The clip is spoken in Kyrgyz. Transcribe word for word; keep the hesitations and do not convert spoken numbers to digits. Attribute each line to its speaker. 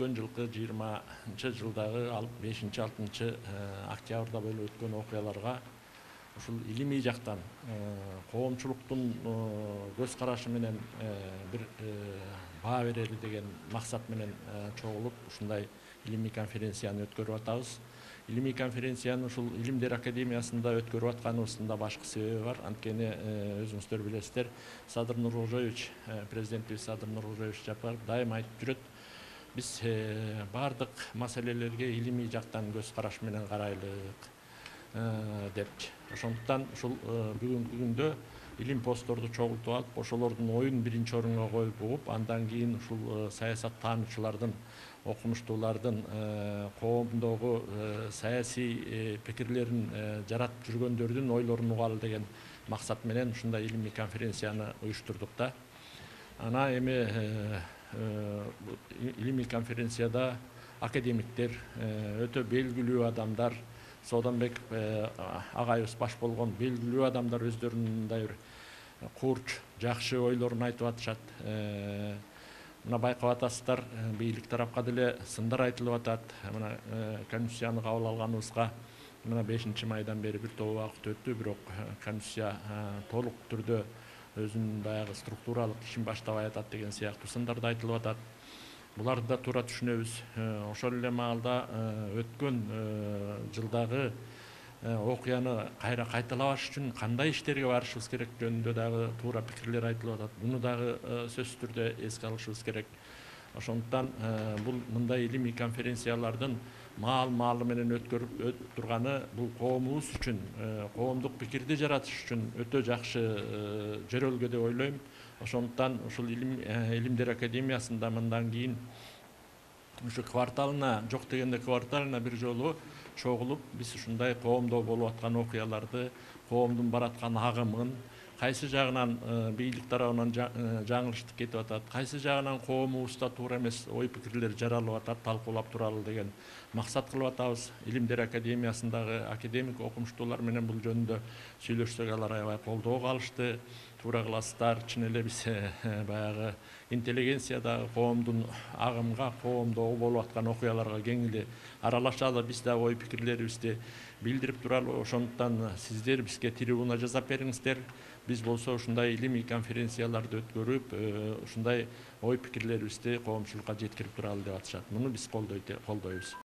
Speaker 1: өткөн жылкы жыйырманчы жылдагы бешинчи алтынчы октябрда болуп өткөн окуяларга ушул илимий жактан коомчулуктун көз карашы менен бир баа берели деген максат менен чогулуп ушундай илимий конференцияны өткөрүп атабыз. Илимий конференцияны ушул Илимдер академиясында өткөрүп атканыбыздын да башкы себеби бар. Анткени өзүңүздөр билесиздер, Садыр Нуркожоевич, президентибиз Садыр Нуркожоевич Жапаров дайыма айтып жүрөт. Биз бардык маселелерге илимий жактан көз караш менен карайлык депчи. Ошондуктан ушул бүгүнкү күндө илим постторду чогултуп алып, ошолордун оюн биринчи орунга коюп угуп, андан кийин ушул саясаттануучулардын, окумуштуулардын коомдогу саясий пикирлерин жаратып жүргөндөрдүн ойлорун угалы деген максат менен ушундай илимий конференцияны уюштурдук да. Ана эми илимий конференцияда академиктер, өтө белгилүү адамдар, Сооданбек агайыбыз баш болгон белгилүү адамдар өздөрүнүн мындай бир курч, жакшы ойлорун айтып атышат. Мына байкап атасыздар, бийлик тарапка деле сындар айтылып атат. Мына конституцияны кабыл алганыбызга мына бешинчи майдан бери бир топ убакыт өттү, бирок конституция толук түрдө өзүнүн баягы структуралык ишин баштабай атат деген сыяктуу сындар да айтылып атат. Буларды да туура түшүнөбүз. Ошол эле маалда өткөн жылдагы окуяны кайра кайталабаш үчүн кандай иштерге барышыбыз керек жөнүндө дагы туура пикирлер айтылып атат. Буну дагы сөзсүз түрдө эске алышыбыз керек. Ошондуктан бул мындай илимий конференциялардын маал-маалы менен өткөрүп турганы бул коомубуз үчүн, коомдук пикирди жаратыш үчүн өтө жакшы жөрөлгө деп ойлойм. Ошондуктан ушул Илимдер академиясында мындан кийин ушу кварталына, жок дегенде кварталына бир жолу чогулуп, биз ушундай коомдо болуп аткан окуяларды, коомдун бараткан агымын, кайсы жагынан бийлик тарабынан жаңылыштык кетип атат, кайсы жагынан коомубузда туура эмес ой пикирлер жаралып атат, талкуулап туралы деген максат кылып атабыз. Илимдер академиясындагы академик окумуштуулар менен бул жөнүндө сүйлөшсөк, алар аябай колдоо кылышты. Туура кыласыздар, чын эле биз баягы интеллигенциядагы коомдун агымга, коомдогу болуп аткан окуяларга кең эле аралашалы, биз да ой пикирлерибизди билдирип туралы. Ошондуктан сиздер бизге трибуна жасап бериңиздер. Биз болсо ушундай илимий конференцияларды өткөрүп, ушундай ой пикирлерибизди коомчулукка жеткирип туралы деп атышат. Муну биз колдойбуз.